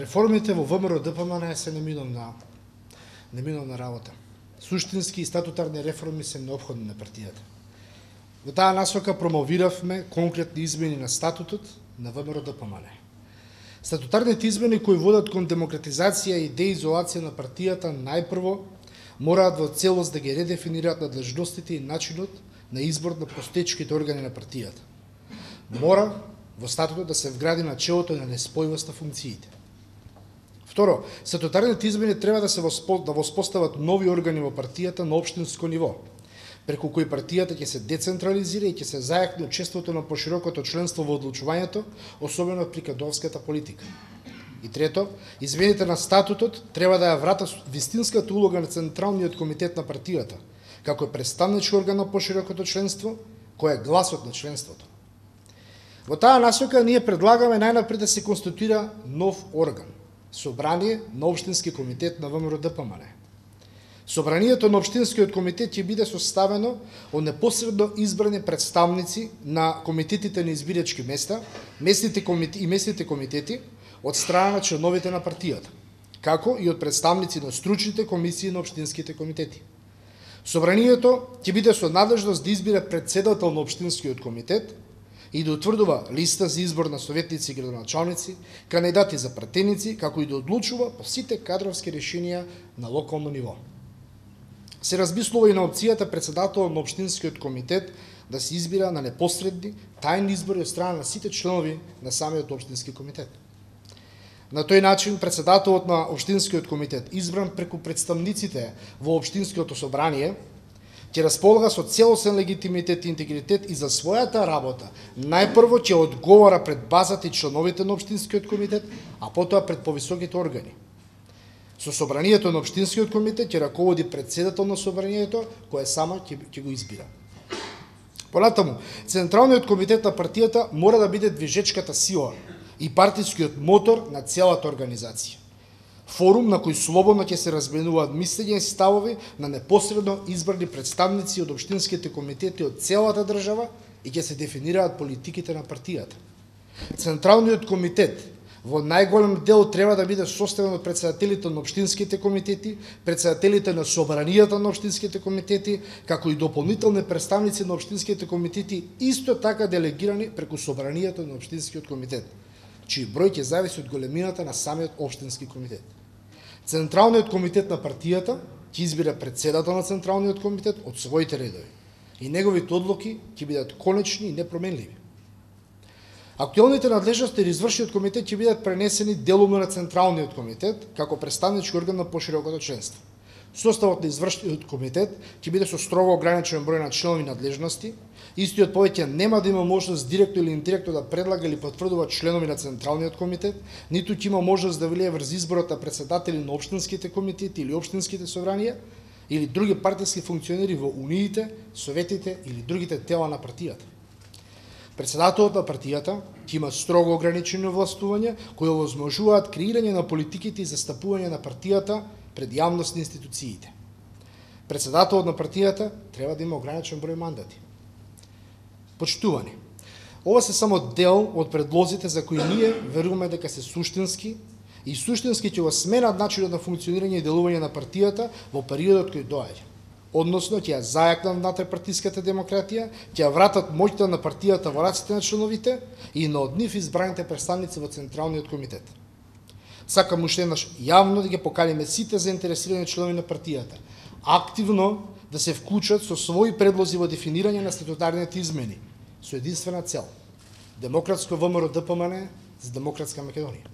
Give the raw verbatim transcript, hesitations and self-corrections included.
Реформите во ВМРО Д П М Н се неминовна, неминовна работа. Суштински и статутарни реформи се неопходни на партијата. Во таа насока промовиравме конкретни измени на статутот на ВМРО Д П М Н. Статутарните измени кои водат кон демократизација и деизолација на партијата најпрво мораат во целост да ги редефинираат надлежностите и начинот на избор на постоечките органи на партијата. Мора во статутот да се вгради начелото на неспојивост на функциите. Второ, статутарните измени треба да се воспо, да воспостават нови органи во партијата на општинско ниво, преку кои партијата ќе се децентрализира и ќе се зајакне учеството на поширокото членство во одлучувањето, особено при кадровската политика. И трето, измените на статутот треба да ја врата вистинската улога на Централниот комитет на партијата, како представнички орган на поширокото членство, кој е гласот на членството. Во таа насока ние предлагаме најнапред да се конституира нов орган, Собрание на Општински комитет на ВМРО Д П М Н. Собранието на Општинскиот комитет ќе биде составено од непосредно избрани представници на комитетите на избирачки места, местните комитети и местните комитети од страна на членовите на партијата, како и од представници на стручните комисии на општинските комитети. Собранието ќе биде со надлежност да избира претседател на Општинскиот комитет и да утврдува листа за избор на советници и градоначалници, кандидати за пратеници, како и да одлучува по сите кадровски решенија на локално ниво. Се размислува и на опцијата претседател на Општинскиот комитет да се избира на непосредни, тајни избори од страна на сите членови на самиот Општински комитет. На тој начин, претседателот на Општинскиот комитет, избран преку представниците во Општинското собрание, ќе располага со целосен легитимитет и интегритет и за својата работа најпрво ќе одговара пред базата и членовите на Општинскиот комитет, а потоа пред повисоките органи. Со собранието на Општинскиот комитет ќе раководи претседател на собранието, кој само ќе, ќе го избира. Понатаму, Централниот комитет на партијата мора да биде движечката сила и партискиот мотор на целата организација. Форум на кој слободно ќе се разменуваат мислења и ставови на непосредно избрани представници од општинските комитети од целата држава и ќе се дефинираат политиките на партијата. Централниот комитет во најголем дел треба да биде составен од претседателите на општинските комитети, претседателите на собранијата на општинските комитети, како и дополнителни представници на општинските комитети, исто така делегирани преку собранијата на општинскиот комитет, чиј број ќе зависи од големината на самиот општински комитет. Централниот комитет на партијата ќе избира претседател на Централниот комитет од своите редови и неговите одлуки ќе бидат конечни и непроменливи. Актуелните надлежности на извршниот комитет ќе бидат пренесени делумно на Централниот комитет како представнички орган на поширокото членство. Составот на извршниот комитет ќе биде со строго ограничен број на членови и надлежности. Истиот повеќе нема да има можност директно или индиректно да предлага или потврдува членови на Централниот комитет, ниту ќе има можност да влие врз изборот на претседатели на општинските комитети или општинските собранија или други партиски функционери во униите, советите или другите тела на партијата. Претседателот на партијата ќе има строго ограничени овластувања кои овозможуваат креирање на политиките и застапување на партијата пред јавност на институциите. Претседателот на партијата треба да има ограничен број мандати. Почитувани, ова се само дел од предлозите за кои ние веруваме дека се суштински и суштински ќе го сменат начинот на функционирање и делување на партијата во периодот кој доаѓа. Односно, ќе ја зајакнат внатре-партиската демократија, ќе ја вратат моќта на партијата во раците на членовите и на од нив избраните представници во Централниот комитет. Сакам уште еднаш јавно да ги поканиме сите заинтересирани членови на партијата активно да се вклучат со своји предлози во дефинирање на статутарните измени со единствена цел – демократско ВМРО Д П М Н за демократска Македонија.